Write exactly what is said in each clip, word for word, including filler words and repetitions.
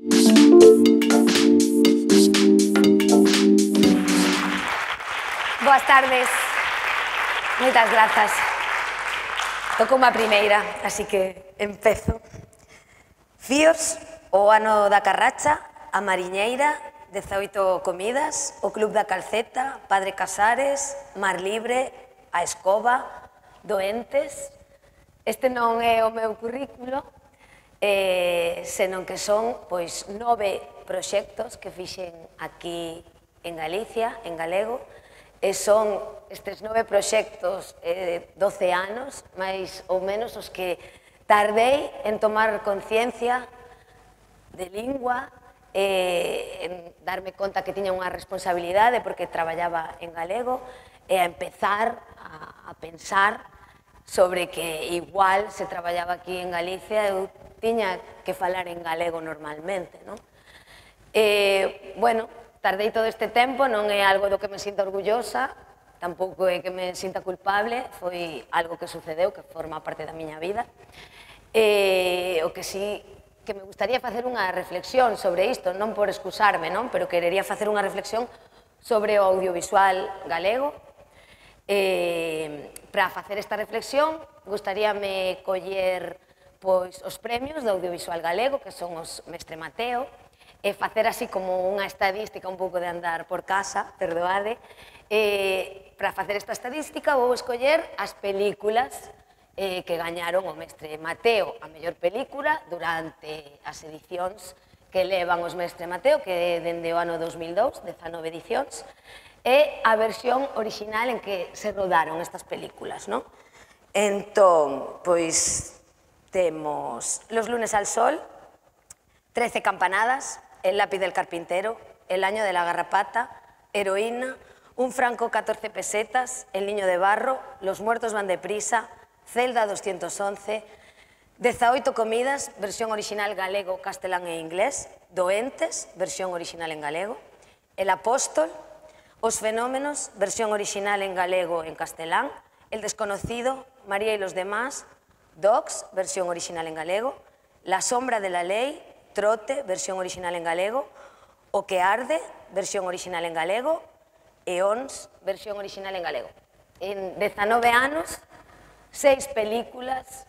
Boas tardes. Moitas grazas. Toco unha primeira, así que empezo. Fíos, o ano da carracha, a mariñeira, dezaoito comidas, o Club da Calceta, Padre Casares, Mar Libre, a Escoba, Doentes. Este non é o meu currículo, eh, senón que son pois nove proxectos que fixen aquí en Galicia, en galego, e son estes nove proxectos eh, doce anos, máis ou menos os que tardei en tomar conciencia de lingua, eh, en darme conta que tiña unha responsabilidade porque traballaba en galego e a empezar a, a pensar sobre que igual se traballaba aquí en Galicia eu tiña que falar en galego normalmente, non? Eh, bueno, tardei todo este tempo, non é algo do que me sinta orgullosa, tampouco é que me sinta culpable, foi algo que sucedeu, que forma parte da miña vida. Eh, o que sí que me gustaría facer unha reflexión sobre isto, non por excusarme, non? Pero querería facer unha reflexión sobre o audiovisual galego. Eh, para facer esta reflexión, gustaríame coller pois, os premios do audiovisual galego, que son os Mestre Mateo, e facer así como unha estadística, un pouco de andar por casa, perdoade. Eh, para facer esta estadística vou escoller as películas eh, que gañaron o Mestre Mateo a mellor película durante as edicións que levan os Mestre Mateo, que dende o ano dos mil dous, dezanove edicións, e a versión orixinal en que se rodaron estas películas, non? Entón, pois, temos Los lunes al sol, Trece campanadas, El lápiz del carpintero, El año de la garrapata, Heroína, Un franco catorce pesetas, El niño de barro, Los muertos van deprisa, Celda doscientos once, dezaoito comidas, versión original galego, castelán e inglés, Doentes, versión original en galego, El apóstol, Os fenómenos, versión original en galego en castelán, El desconocido, María y los demás, Docs, versión original en galego, La sombra de la ley, Trote, versión original en galego, O que arde, versión original en galego, e Ons, versión original en galego. En dezanove anos, seis películas,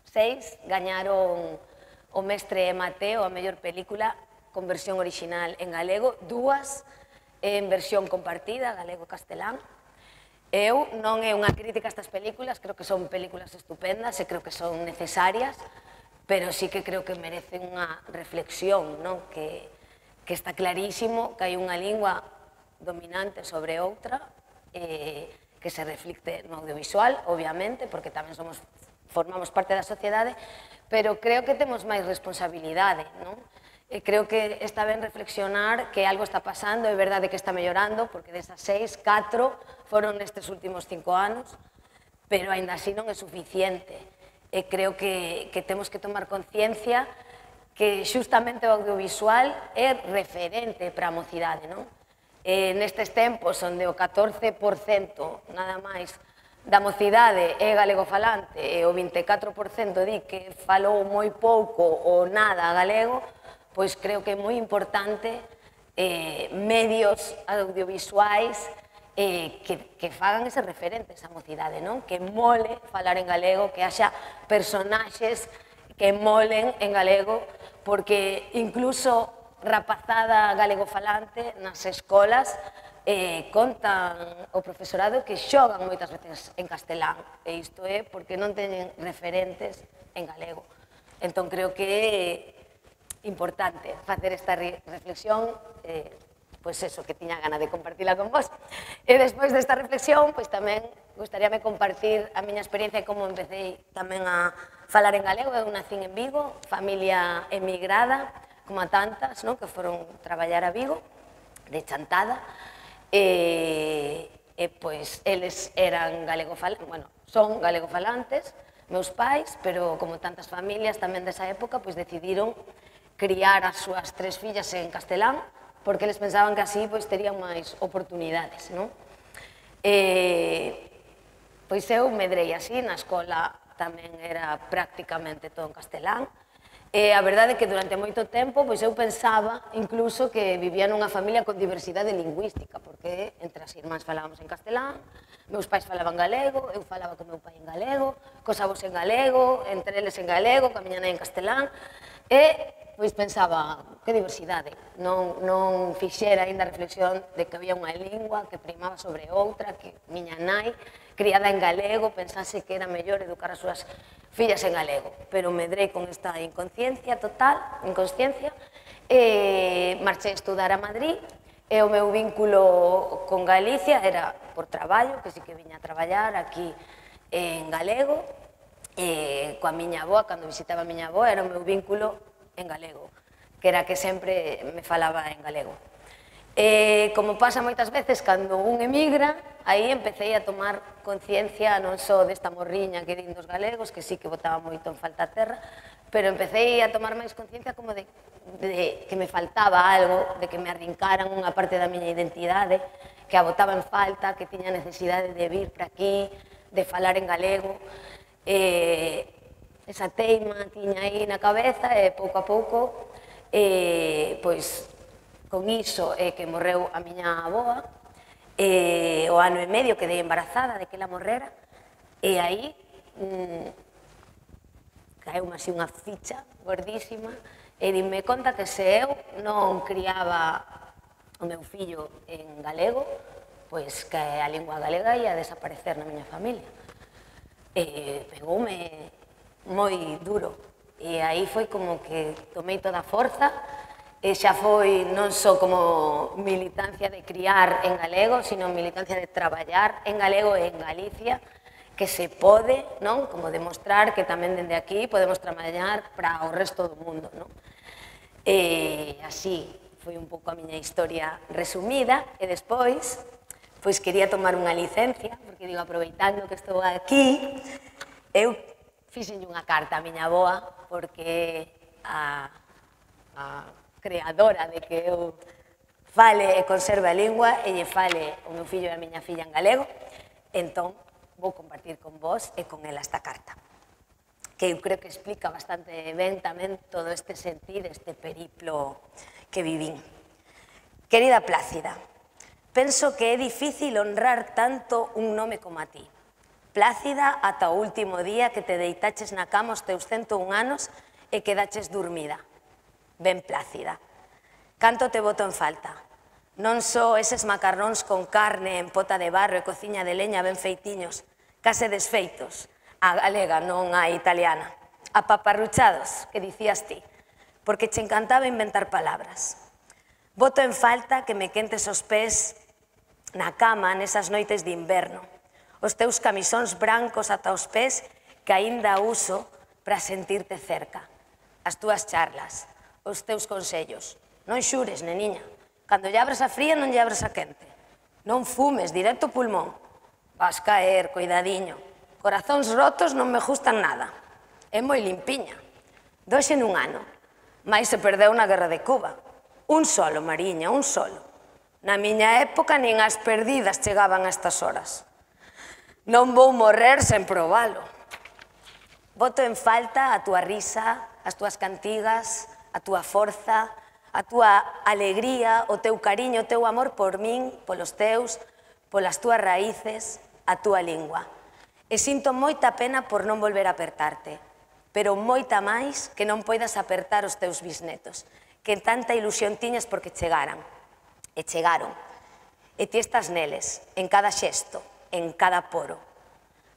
seis, gañaron o Mestre Mateo a mellor película con versión original en galego, dúas en versión compartida, galego-castelán. Eu non é unha crítica a estas películas, creo que son películas estupendas e creo que son necesarias, pero sí que creo que merecen unha reflexión, non? Que, que está clarísimo que hai unha lingua dominante sobre outra, eh, que se reflicte no audiovisual, obviamente, porque tamén somos, formamos parte da sociedade, pero creo que temos máis responsabilidade, non? E creo que está ben reflexionar que algo está pasando, é verdade que está mellorando, porque desas seis, catro foron nestes últimos cinco anos, pero aínda así non é suficiente. E creo que, que temos que tomar conciencia que xustamente o audiovisual é referente para a mocidade, non? E nestes tempos onde o catorce por cento nada máis da mocidade é galegofalante e o vinte e catro por cento di que falou moi pouco ou nada galego, pois creo que é moi importante eh, medios audiovisuais Eh, que, que fagan ese referentes á mocidade, non? Que mole falar en galego, que haxa personaxes que molen en galego, porque incluso rapazada galegofalante nas escolas eh, contan o profesorado que xogan moitas veces en castelán, e isto é porque non teñen referentes en galego. Entón creo que é importante facer esta reflexión, eh, pois eso, que tiña gana de compartila con vos. E despois desta reflexión, pois tamén gustaríame compartir a miña experiencia e como empecé tamén a falar en galego. Eu nacín en Vigo, familia emigrada, como a tantas, non? Que foron traballar a Vigo, de Chantada, e, e pois eles eran galegofalantes, bueno, son galegofalantes, meus pais, pero como tantas familias tamén desa época, pois decidiron criar as súas tres fillas en castelán, porque eles pensaban que así pois, terían máis oportunidades, non? E, pois eu medrei así, na escola tamén era prácticamente todo en castelán, E a verdade é que durante moito tempo pois eu pensaba incluso que vivía nunha familia con diversidade lingüística, porque entre as irmáns falábamos en castelán, meus pais falaban galego, eu falaba con meu pai en galego, cos avós en galego, entre eles en galego, ca miña nai en castelán, e pois pensaba, que diversidade, non, non fixera ainda a reflexión de que había unha lingua que primaba sobre outra, que miña nai, criada en galego, pensase que era mellor educar as súas fillas en galego, pero medrei con esta inconsciencia total, inconsciencia, e marchei a estudar a Madrid, e o meu vínculo con Galicia era por traballo, que sí que viña a traballar aquí en galego, e coa miña avoa, cando visitaba a miña avoa, era o meu vínculo en galego, que era que sempre me falaba en galego. E, como pasa moitas veces, cando un emigra, aí empecé a tomar conciencia non só desta morriña que din dos galegos, que sí que botaba moito en falta a terra, pero empecé a tomar máis conciencia como de, de que me faltaba algo, de que me arrincaran unha parte da miña identidade, que a botaba en falta, que tiña necesidade de vir para aquí, de falar en galego, e esa teima tiña aí na cabeza e pouco a pouco, e, pois, con iso é que morreu a miña avoa, e o ano e medio quedei embarazada de que ela morrera, e aí mmm, caeu así unha ficha gordísima, e dime conta que se eu non criaba o meu fillo en galego, pois que a lingua galega ia desaparecer na miña familia. E pegoume moi duro, e aí foi como que tomei toda a forza, e xa foi non só como militancia de criar en galego, sino militancia de traballar en galego e en Galicia, que se pode, non? Como demostrar que tamén dende aquí podemos traballar para o resto do mundo, non? E así foi un pouco a miña historia resumida, e despois, pois quería tomar unha licencia, porque digo, aproveitando que estou aquí, eu fixenlle unha carta a miña avoa, porque a, a creadora de que eu fale e conserve a lingua e lle fale o meu fillo e a miña filla en galego, entón vou compartir con vos e con ela esta carta, que eu creo que explica bastante ben tamén todo este sentir, este periplo que vivín. Querida Plácida, penso que é difícil honrar tanto un nome como a ti. Plácida ata o último día que te deitaches na cama os teus cento un anos e quedaches dormida. Ben Plácida. Canto te boto en falta. Non só eses macarróns con carne en pota de barro e cociña de leña ben feitiños, case desfeitos, a galega, non a italiana. Apaparruchados, que dicías ti, porque che encantaba inventar palabras. Boto en falta que me quentes os pés na cama nesas noites de inverno, os teus camisóns brancos ata os pés que aínda uso para sentirte cerca, as túas charlas, os teus consellos. Non xures, neniña, cando lle abres a fría non lle abres a quente. Non fumes, directo pulmón. Vas caer, cuidadiño. Corazóns rotos non me gustan nada. É moi limpiña. Doxe nun ano, mais se perdeu na guerra de Cuba. Un solo, Mariña, un solo. Na miña época nin as perdidas chegaban a estas horas. Non vou morrer sen probalo. Boto en falta a túa risa, as túas cantigas, a túa forza, a túa alegría, o teu cariño, o teu amor por min, polos teus, polas túas raíces, a túa lingua. E sinto moita pena por non volver a apertarte, pero moita máis que non poidas apertar os teus bisnetos, que tanta ilusión tiñas porque chegaran. E chegaron. E ti estás neles, en cada xesto, en cada poro.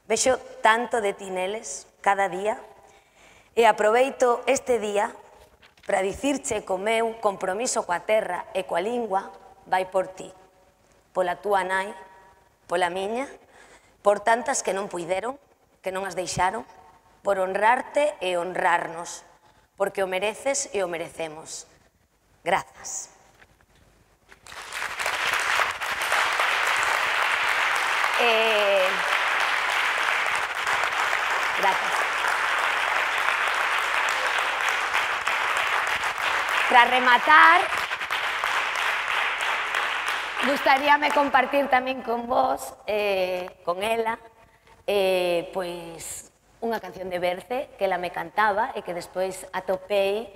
Vexo tanto de ti neles, cada día, e aproveito este día para dicirche que o meu compromiso coa terra e coa lingua vai por ti, pola túa nai, pola miña, por tantas que non puideron, que non as deixaron, por honrarte e honrarnos, porque o mereces e o merecemos. Grazas. Eh, gracias. Para rematar, gustaríame compartir tamén con vos, eh, con ela, eh, pois, unha canción de Berce que ela me cantaba e que despois atopei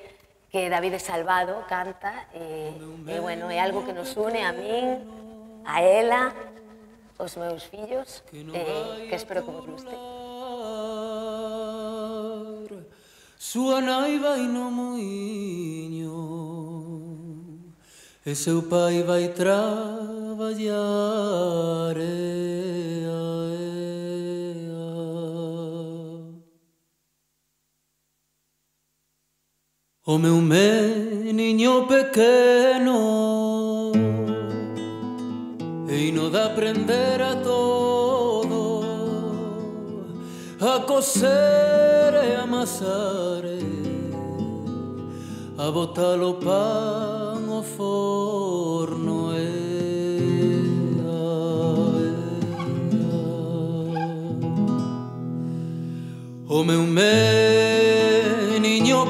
que David Salvado canta e, e bueno, é algo que nos une a min, a ela, os meus fillos, e que espero que vos guste. Súa nai vai no muiño e seu pai vai traballar, ea, ea. O meu meniño pequeno eino de aprender a todo, a coser e amasar, a botar o pan ao forno, ea, ea. O meu meniño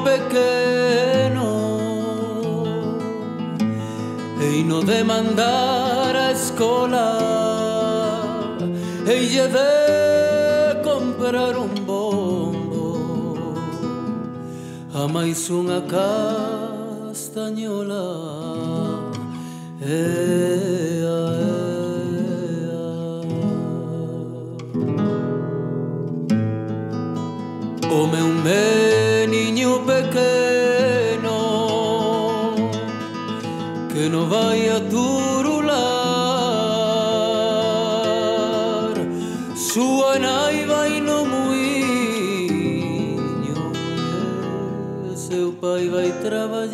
pequeno eino de mandar a escola e lle de comprar un bombo a máis unha castañola, ea, ea. O meu meniño pequeno que non vai a turular, súa nai vai no muiño e seu pai vai traballar.